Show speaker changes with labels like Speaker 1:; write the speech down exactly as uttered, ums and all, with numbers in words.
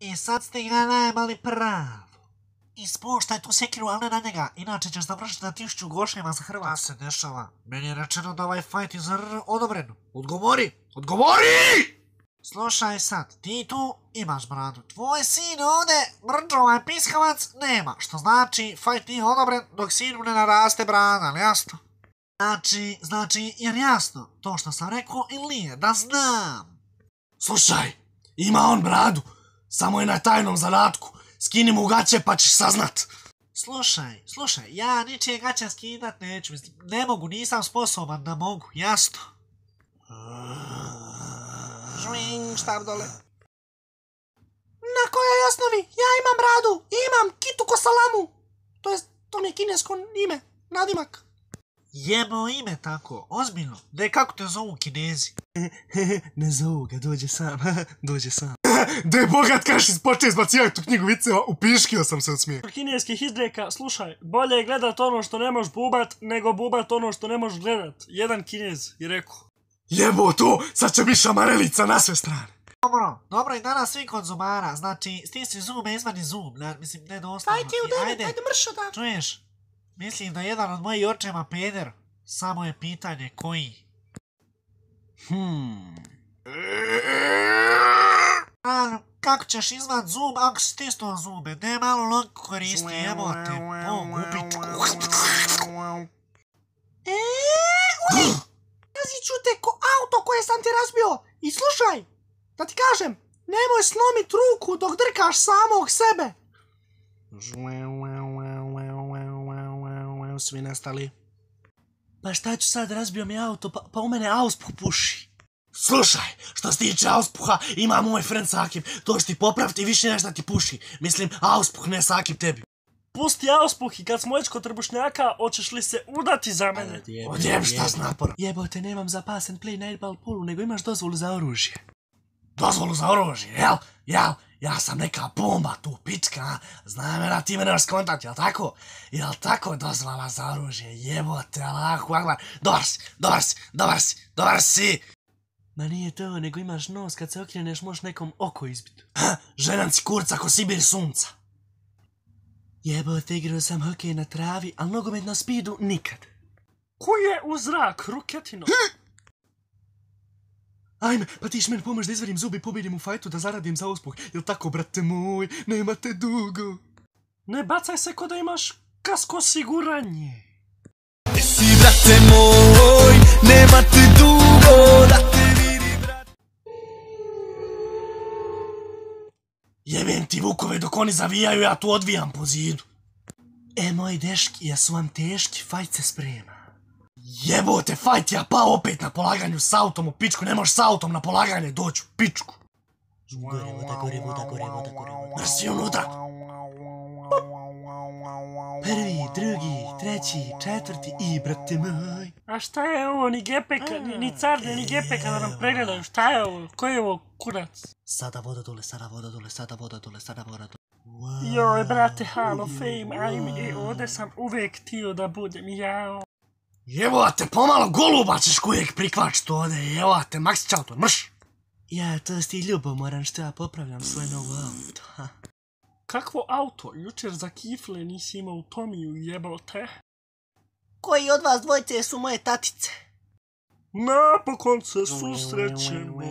Speaker 1: I sad ste ga najmali pravo. Ispuštaj tu sekiru, ali ne na njega, inače ćeš završiti na tišću goševa za Hrvatsku. Šta se dešava? Meni je rečeno da ovaj fajt je za R odobren. Odgovori! Odgovori! Slušaj sad, ti tu imaš bradu. Tvoj sin ovdje, mrđo ovaj piskavac, nema. Što znači, fajt nije odobren dok sinu ne naraste brada, ali jasno? Znači, znači, jer jasno, to što sam rekao ili nije, da znam.
Speaker 2: Slušaj, ima on bradu, samo je na tajnom zadatku. Skini mu gaće pa ćeš saznat.
Speaker 1: Slušaj, slušaj, ja ničije gaće skidat neću, mislim, ne mogu, nisam sposoban da mogu, jasno. Žving, štab dole.
Speaker 3: Na kojoj osnovi? Ja imam bradu, imam kitu ko salamu. To jest, to mi je kinesko ime, nadimak.
Speaker 1: Jebo ime tako, ozbiljno. Dej, kako te zovu Kinezi?
Speaker 3: Ne zovu ga, dođe sam, dođe sam.
Speaker 2: Dej bogat kaš ispoče izbacivati tu knjigu viceva, upiškio sam se od smijeha.
Speaker 4: Kineskih izreka, slušaj, bolje je gledat ono što ne možeš bubat, nego bubat ono što ne možeš gledat. Jedan Kinez je rekao.
Speaker 2: Jebo to, sad će biti šamarelica na sve strane.
Speaker 1: Dobro, dobro i danas svi kod zubara, znači stisni zube, izvani zub, ne, mislim, ne doslovno.
Speaker 3: Ajde u devet, ajde mršo da.
Speaker 1: Čuješ, mislim da jedan od mojih očeva peder, samo je pitanje koji.
Speaker 3: Hmm.
Speaker 1: A, kako ćeš izvat zub ako si stisnuo zube, ne malo logku koristi, jebote, o, gubičku.
Speaker 3: Eee, uli! Razit ću te ko auto koje sam ti razbio. I slušaj, da ti kažem, nemoj slomit ruku dok drkaš samog sebe.
Speaker 2: Svi nestali.
Speaker 3: Pa šta ću sad, razbio mi auto, pa, pa u mene auspuh puši.
Speaker 2: Slušaj, što se tiče auspuha, ima moj friend Sakib, to što ti popraviti više nešto ti puši. Mislim, auspuh ne Sakib tebi.
Speaker 4: Pusti auspuh i kad smo već kod trbušnjaka, hoćeš li se udati za mene?
Speaker 2: Odjem šta s naporom.
Speaker 3: Jebote, nemam zapasen play na eight-ball poolu, nego imaš dozvolu za oružje.
Speaker 2: Dozvolu za oružje, jel? Jel? Ja sam neka bomba tu, pička, znam da ti me nemaš skontat, jel tako? Jel tako dozvola za oružje, jebote, Allahu akbar. Dobar si, dobar si, dobar si, dobar si.
Speaker 3: Ma nije to, nego imaš nos, kad se okreneš možeš nekom oko izbiti.
Speaker 2: Ha, ženam si kurca ko Sibir sunca.
Speaker 3: Jebote, igrao sam hokej na travi, al nogomet na speedu nikad.
Speaker 4: Ko je u zrak, ruketino?
Speaker 3: Ajme, pa ti š meni pomoć da izvadim zubi i pobijedim u fajtu da zaradim za auspuh. Jel tako, brate moj, nemate dugo.
Speaker 4: Ne bacaj se ko da imaš kasko osiguranje.
Speaker 5: Si, brate moj, nemate dugo da te vidi, brate.
Speaker 2: Jebem ti vukove dok oni zavijaju, ja tu odvijam po zidu.
Speaker 3: E, moji deški, jesu vam teški, fajt se sprema.
Speaker 2: Jebote, fajt, ja pao opet na polaganju s autom u pičku, ne možeš s autom na polaganje doći u pičku.
Speaker 3: Gore voda, gore voda, gore voda, gore voda.
Speaker 2: Mrsi unutra.
Speaker 3: Prvi, drugi, treći, četvrti i, brate moj.
Speaker 4: A šta je ovo, ni gepeka, ni, ni carne, ni gepeka da nam pregledaju, šta je ovo, ko je ovo kurac?
Speaker 3: Sada voda dole, sada voda dole, sada voda dole, sada voda dole. Wow.
Speaker 4: Joj, brate, Hall of Fame, ajme, e, ovdje sam uvek htio da budem, jao.
Speaker 2: Jebote, pomalo goluba ćeš kujek prikvačiti ovdje, jebote, Maxi Čautor, mrš!
Speaker 3: Ja, to si ti ljubomoran što ja popravljam svoje novo auto, ha.
Speaker 4: Kakvo auto? Jučer za kifle nisi imao Tomiju, jebote.
Speaker 3: Koji od vas dvojce su moje tatice?
Speaker 4: Napokon se susrećemo.